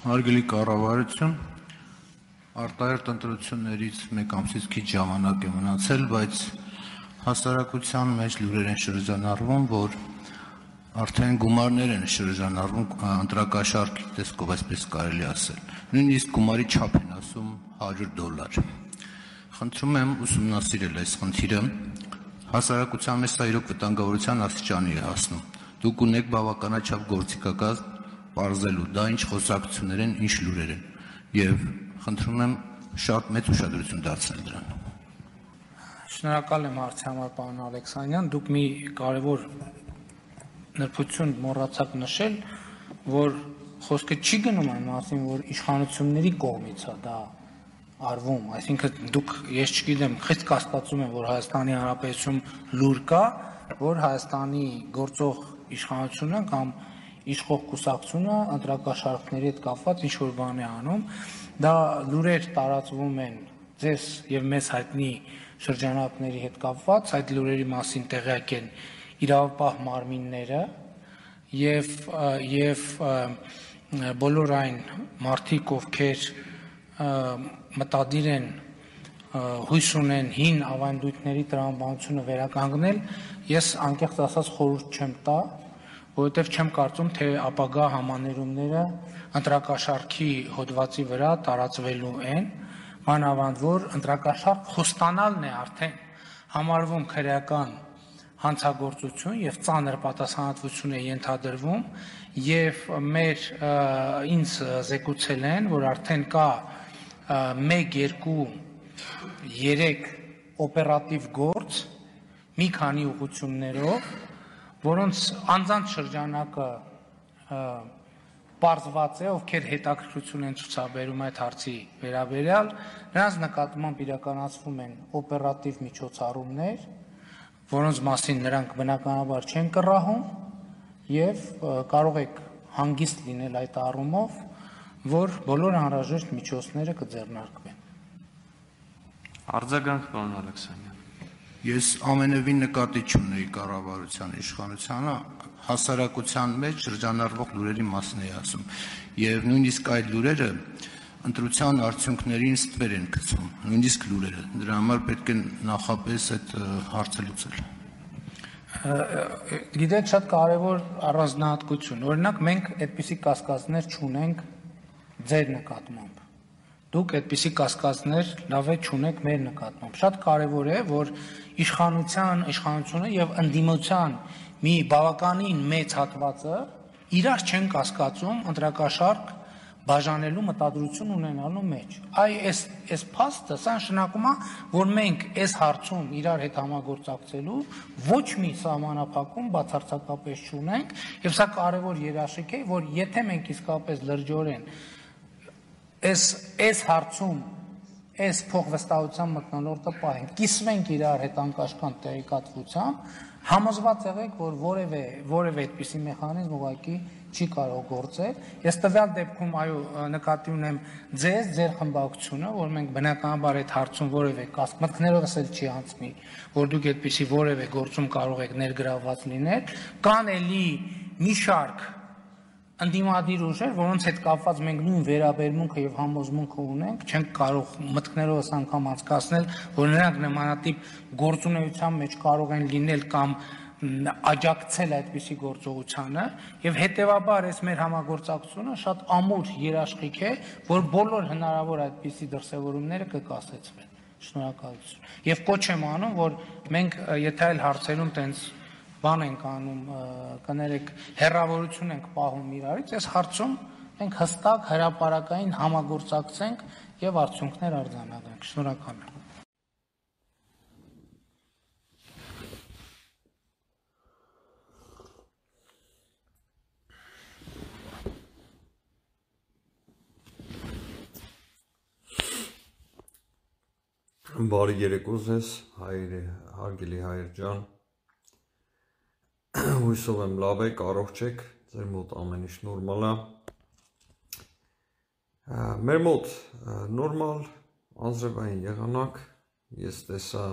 Հարգելի կառավարություն, արտահերթ ընտրություններից մեկ ամսից քիչ ժամանակ է մնացել, բայց հասարակության մեջ լուրեր են շրջանառվում, որ արդեն գումարներ են շրջանառվում ընտրակաշառքի տեսքով, այսպես կարելի ասել։ Նույնիսկ գումարի չափ են ասում $100։ Խնդրում եմ ուսումնասիրել այս խնդիրը, հասարակության մեջ սա իրոք վտանգավորության աստիճանի է հասնում։ Դուք ունեք բավականաչափ գործիքակազմ պարզելու, դա ինչ խոսակցություններ են, ինչ լուրեր են, և խնդրում եմ շատ մեծ ուշադրություն դարձնել դրան։ Շնորհակալ եմ հարցի համար, պարոն Ալեքսանյան, դուք մի կարևոր նրբություն մոռացաք նշել, որ խոսքը չի գնում այն մասին, որ իշխանությունների կողմից է դա արվում, այսինքն դուք, ես չգիտեմ, խիստ կասկածում եմ, որ Հայաստանի Հանրապետությունում լուր կա, որ Հայաստանի գործող իշխանությունը կամ իշխող կուսակցությունը ընտրակաշառքների հետ կապված ինչ-որ բան է անում, դա լուրեր տարածվում են ձեզ և մեզ հայտնի շրջանակների հետ կապված, այդ լուրերի մասին տեղյակ են իրավապահ մարմինները և բոլոր այն մարդիկ, ովքեր մտադիր են հույս ունեն հին ավանդույթների տրամաբանությունը վերականգնել, ես անկեղծ ասած խորհուրդ չեմ տա, որովհետև չեմ կարծում, թե ապագա համաներումները ընտրակաշառքի հոդվածի վրա տարածվելու են, մանավանդ որ ընտրակաշառք խոստանալն է արդեն համարվում քրեական հանցագործություն և ծանր պատասխանատվություն է ենթադրվում և ինձ զեկուցել են, որ արդեն կա 1, 2, 3 օպերատիվ գործ մի քանի ուղղություններով, որոնց անձանց շրջանակը պարզված է, ովքեր հետաքրքրություն են ցուցաբերում այդ հարցի վերաբերյալ, նրանց նկատմամբ իրականացվում են օպերատիվ միջոցառումներ, որոնց մասին նրանք բնականաբար չեն կռահում և կարող եք հանգիստ լինել այդ առումով, որ բոլոր անհրաժեշտ միջոցները կձեռնարկվեն։ Արձագանք, պարոն Ալեքսանյան։ Ես ամենևին նկատի չունեի կառավարության իշխանությանը, հասարակության մեջ շրջանառվող լուրերի մասին էի ասում, և նույնիսկ այդ լուրերը ընտրության արդյունքներին ստվեր են գցում, նույնիսկ լուրերը, դրա համար պետք է նախապես այդ հարցը լուծել։ Գիտեք, շատ կարևոր առանձնահատկություն, օրինակ մենք այդպիսի կասկածներ չունենք ձեր նկատմամբ, դուք այդպիսի կասկածներ լավ է չունեք մեր նկատմամբ, շատ կարևոր է, որ իշխանությունը և ընդդիմության մի բավականին մեծ հատվածը իրար չեն կասկածում ընտրակաշառք բաժանելու մտադրություն ունենալու մեջ։ Այս փաստը սա նշանակում է, որ մենք այս հարցում իրար հետ համագործակցելու ոչ մի սահմանափակում բացարձակապես չունենք, և սա կարևոր երաշխիք է, որ եթե մենք իսկապես լրջորեն այս հարցում այս փոխվստահության մթնոլորտը պահենք, կիսվենք իրար հետ անկաշկանդ տեղեկատվությամբ, համոզված եղեք, որ որևէ այդպիսի մեխանիզմ ուղղակի չի կարող գործել։ Ես տվյալ դեպքում նկատի ունեմ ձեր խմբակցությունը, որ մենք բնականաբար այդ հարցում որևէ մտքներովս էլ չի անցնի, որ դուք այդպիսի որևէ գործում կարող եք ներգրավված լինել, կան էլի մի շարք ընդդիմադիր ուժեր, որոնց հետ կապված մենք նույն վերաբերմունքը և համոզմունքը ունենք, չենք կարող մտքներովս անգամ անցկացնել, որ նրանք նմանատիպ գործունեության մեջ կարող են լինել կամ աջակցել այդպիսի գործողությանը, և հետևաբար այս մեր համագործակցությունը շատ ամուր երաշխիք է, որ բոլոր հնարավոր այդպիսի դրսևորումները կկասեցվեն։ Շնորհակալություն։ Եվ կոչ եմ անում, որ մենք եթե այլ հարցերում տենց բան ենք անում, կներեք, հեռավորություն ենք պահում իրարից, այս հարցում մենք հստակ հրապարակային համագործակցենք և արդյունքներ արձանագրենք։ Շնորհակալ եմ։ Բարի երեկո ձեզ, հարգելի հայր ջան, հույսով եմ լավ եք, առողջ եք, ձեր մոտ ամեն ինչ նորմալ է, մեր մոտ նորմալ անձրևային եղանակ, ես տեսա,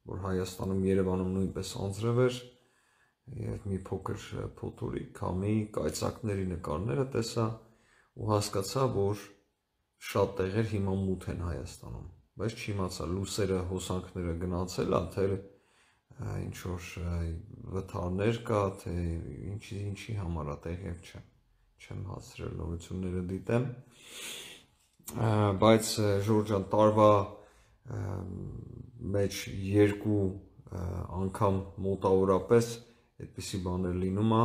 որ Հայաստանում Երևանում նույնպես անձրև էր և մի փոքր փոթորիկ, քամի, կայծակների նկարները տեսա, ու հասկացա, որ շատ տեղեր հիմա մութ են Հայաստանում, բայց չիմացա լուսերը, հոսանքները գնացել, թե ինչ որ վթարներ կա, թե ինչի համար է տեղյակ չեմ հասցրել նորությունները դիտեմ, բայց Ժորժ ջան, տարվա մեջ 2 անգամ մոտավորապես այդպիսի բաներ լինում է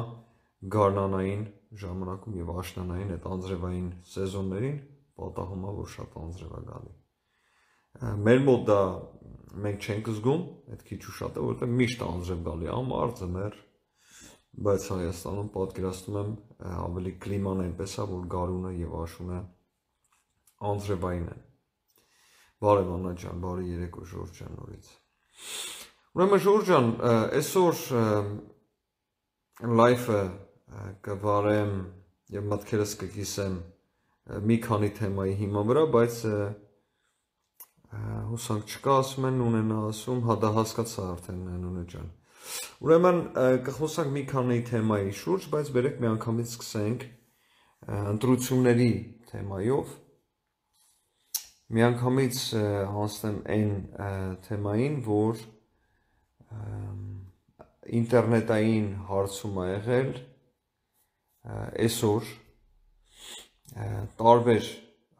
գարնանային ժամանակում եւ աշնանային այդ անձրևային սեզոններին պատահում է, որ շատ անձրև է գալի։ Մեր մոտ դա մենք չենք զգում, այդ քիչ ու շատ է, որովհետեւ միշտ անձրև գալի ամառ, ձմեռ, բայց Հայաստանում պատկերացնում եմ ավելի կլիման այնպես է, որ գարունը եւ աշունը անձրևային են։ Բարև Աննա ջան, բարի երեկո Ժորժ ջան նորից։ Ուրեմն Ժորժ ջան, այսօր լայվը կվարեմ եւ մտքերս կկիսեմ մի քանի թեմայի հիման վրա, բայց հուսանք չկա, ասում են Նունեն ասում, հա դա հասկացա արդեն Նունե ջան։ Ուրեմն կխոսանք մի քանի թեմայի շուրջ, բայց բերեք միանգամից սկսենք ընտրությունների թեմայով։ Միանգամից հանձնեմ այն թեմային, որ ինտերնետային հարցում է եղել այսօր տարբեր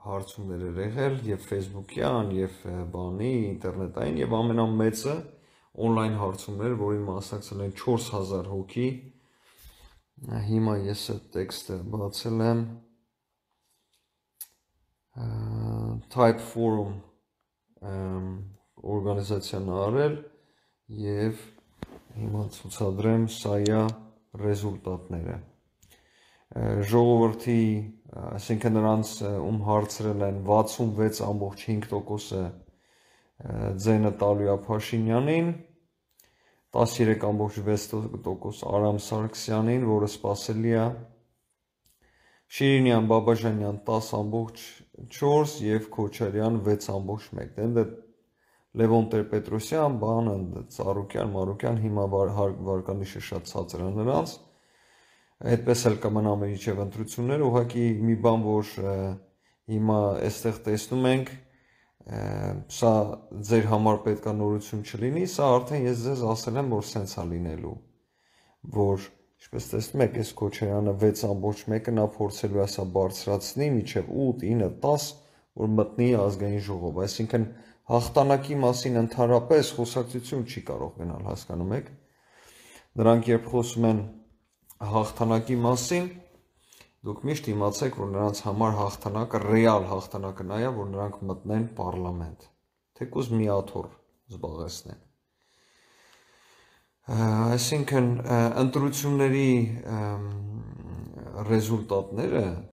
հարցումներ էր եղել եւ Facebook-յան եւ բանի ինտերնետային եւ ամենամեծը on-line հարցումներ, որին մասնակցել են 4000 հոգի։ Հիմա ես այդ տեքստը բացել եմ Type Forum օրգանիզացիան արել եւ հիմա ցուցադրեմ սա է ռեզուլտատները։ Ժողովրդի, այսինքն նրանց ում հարցրել են 66.5%-ը ձենը տալու է Փաշինյանին, 13.6% Արամ Սարգսյանին, որը սպասելի է, Շիրինյան Բաբաջանյան 10.4 եւ Քոչարյան 6.1։ Դե Լևոն Տեր-Պետրոսյան, բանը Ծառուկյան, Մարուկյան, հիմա վարկանիշը շատ ցածր է նրանց։ Այդպես էլ կմնա միջև ընտրությունները, ուղղակի մի բան, որ հիմա այստեղ տեսնում ենք, սա ձեր համար պետքա նորություն չլինի, սա արդեն ես ձեզ ասել եմ, որ սենց է լինելու, որ ինչպես տեսնում եք, այս Քոչարյանը 6.1-ը նա փորձելու է սա բարձրացնի մինչև 8, 9, 10, որ մտնի ազգային ժողով, այսինքն հաղթանակի մասին ընդհանրապես խոսակցություն չի կարող գնալ, հասկանում եք։ Նրանք երբ խոսում են հաղթանակի մասին, դուք միշտ իմացեք, որ նրանց համար հաղթանակը, ռեալ հաղթանակը նա է, որ նրանք մտնեն պարլամենտ, թեկուզ մի աթոռ զբաղեցնեն։ Այսինքն ընտրությունների ռեզուլտատները